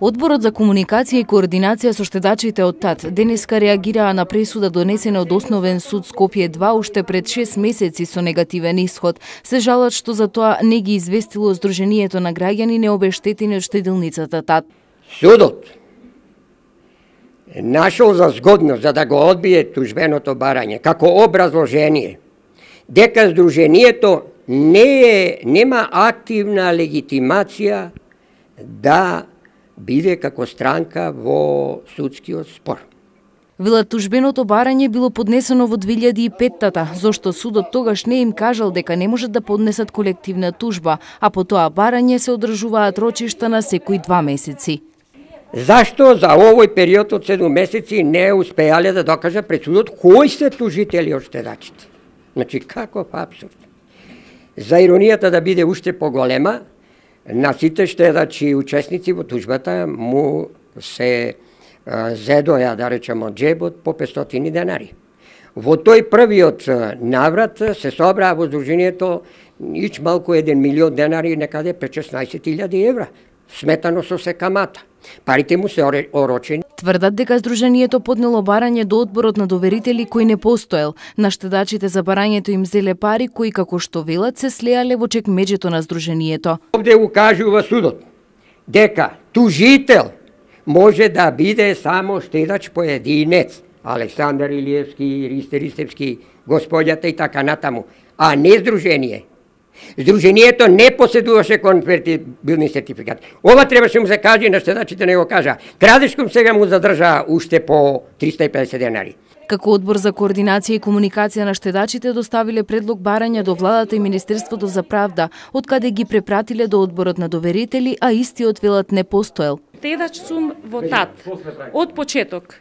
Одборот за комуникација и координација со штедачите од ТАТ денеска реагираа на пресуда донесена од Основен суд Скопје 2 уште пред 6 месеци со негативен исход. Се жалат што за тоа не ги известило Сдруженијето на граѓани необештетени од штедилницата ТАТ. Судот нашол за згодно за да го одбие тужбеното барање како образложение дека Сдруженијето нема активна легитимација да биде како странка во судскиот спор. Велат тужбеното барање било поднесено во 2005-та, зошто судот тогаш не им кажал дека не можат да поднесат колективна тужба, а по тоа барање се одржуваат рочишта на секои 2 месеци. Зашто за овој период од 7 месеци не успеале да докажат пред судот кои се тужители од штедачите? Значи, каков апсурд. За иронијата да биде уште поголема, на сите штедачи учесници во тужбата му се зедоја, да речеме, од джебот по 500 денари. Во тој првиот наврат се собраа во Сдруженијето ич малку 1 милион денари, некаде 16.000 евра, сметано со се камата. Парите му се орочени. Тврдат дека Сдруженијето поднело барање до одборот на доверители кој не постоел. На штедачите за барањето им зеле пари кои, како што велат, се слеале во чекмеџето на Сдруженијето. Овде укажува судот дека тужител може да биде само штедач поединец, Александар Илиевски, Ристе Ристевски, господјата и така натаму, а не Сдружение. Сдруженијето не поседуваше конвертибилни сертификати. Ова требаше му се каже, на штедачите не го кажа. Крадешком сега му задржа уште по 350 денари. Како одбор за координација и комуникација на штедачите доставиле предлог барања до владата и Министерството за правда, од каде ги препратиле до одборот на доверители, а истиот велат не постоел. Штедач сум во ТАТ од почеток.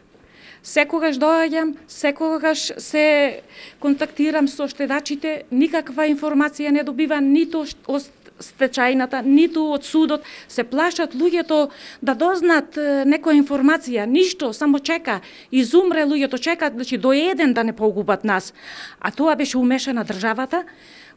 Секогаш доаѓам, секогаш се контактирам со штедачите, никаква информација не добивам ниту од стечајната, ниту од судот. Се плашат луѓето да дознаат некоја информација, ништо, само чека. Изумре луѓето, чекаат, значи до еден да не погубат нас. А тоа беше умешана државата.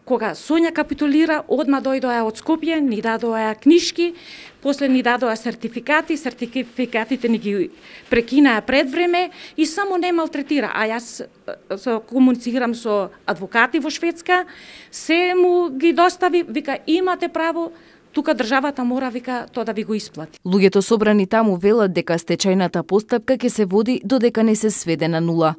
Кога Сонја капитулира, одма дојдоа од Скопје, ни дадоа книжки, после ни дадоа сертификати, сертификатите ни ги прекинаа пред време и само не малтретира. А јас комуницирам со адвокати во Шведска, се му ги достави, вика имате право, тука државата мора, вика, тоа да ви го исплати. Луѓето собрани таму велат дека стечајната постапка ќе се води додека не се сведе на нула.